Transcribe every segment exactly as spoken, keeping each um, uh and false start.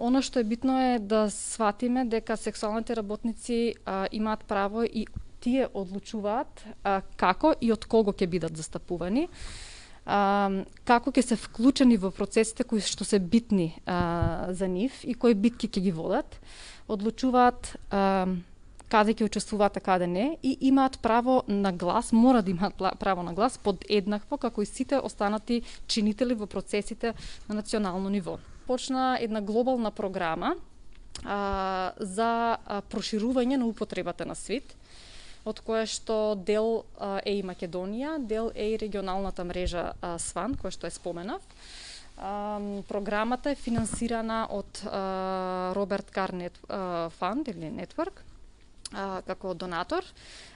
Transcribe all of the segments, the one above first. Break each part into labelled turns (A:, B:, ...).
A: Оно што е битно е да сватиме дека сексуалните работници а, имаат право и тие одлучуваат а, како и од кого ќе бидат застапувани, а, како ќе се вклучени во процесите кои што се битни а, за нив и кои битки ќе ги водат, одлучуваат а, каде ќе учествуваат, а каде не, и имаат право на глас, мора да имаат право на глас подеднакво како и сите останати чинители во процесите на национално ниво. Почна една глобална програма а, за а, проширување на употребата на СВИД, од која што дел а, е и Македонија, дел е и регионалната мрежа а, СВАН, која што е споменав. А, програмата е финансирана од а, Роберт Кар Фанд или Network, а, како донатор.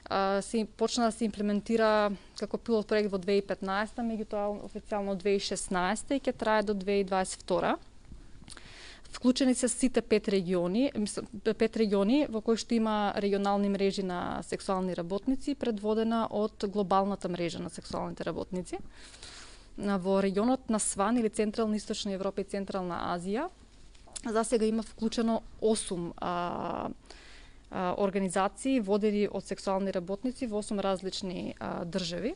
A: А, се почна да се имплементира како пилот проект во две илјади и петнаесета, меѓутоа официјално две илјади и шеснаесета и ќе трае до две илјади и дваесет и втора. Вклучени се сите пет региони, пет региони во кои што има регионални мрежи на сексуални работници, предводена од глобалната мрежа на сексуалните работници. Во регионот на СВАН или Централна Источна Европа и Централна Азија, за сега има вклучено осум а, а, организации водени од сексуални работници во осум различни а, држави.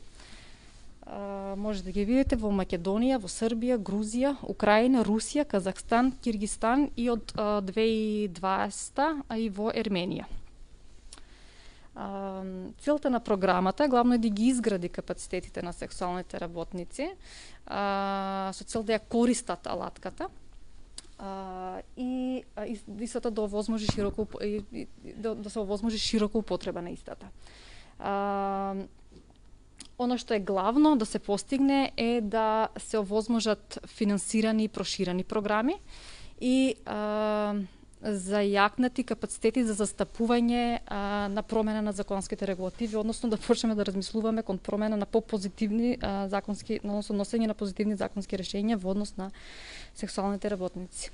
A: Uh, може да ги видите во Македонија, во Србија, Грузија, Украина, Русија, Казахстан, Киргистан и од uh, две илјади и дваесета, а и во Ерменија. Uh, целта на програмата е главно да ги изгради капацитетите на сексуалните работници, uh, со цел да ја користат алатката uh, и uh, истата да овозможи широко да, да се овозможи широко употреба на истата. Uh, Оно што е главно да се постигне е да се овозможат финансирани и проширени програми и а, зајакнати капацитети за застапување а, на промена на законските регулативи, односно да почнеме да размислуваме кон промена на попозитивни а, законски, односно носење на позитивни законски решенија во однос на сексуалните работници.